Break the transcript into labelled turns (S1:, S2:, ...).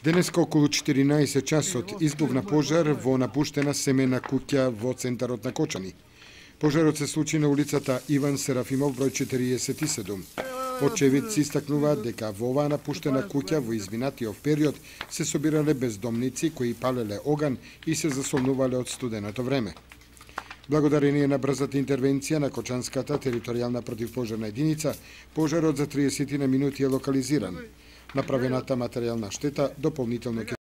S1: Денеска околу 14 часот избувна пожар во напуштена семена куќа во центарот на Кочани. Пожарот се случи на улицата Иван Серафимов број 47. Очевидци истакнуваат дека во оваа напуштена куќа во изминатиот период се собирале бездомници кои палеле оган и се засолнувале од студеното време. Благодарение на брзата интервенција на Кочанската територијална противпожарна единица, пожарот за 30 минути е локализиран. Направената материјална штета дополнително ќе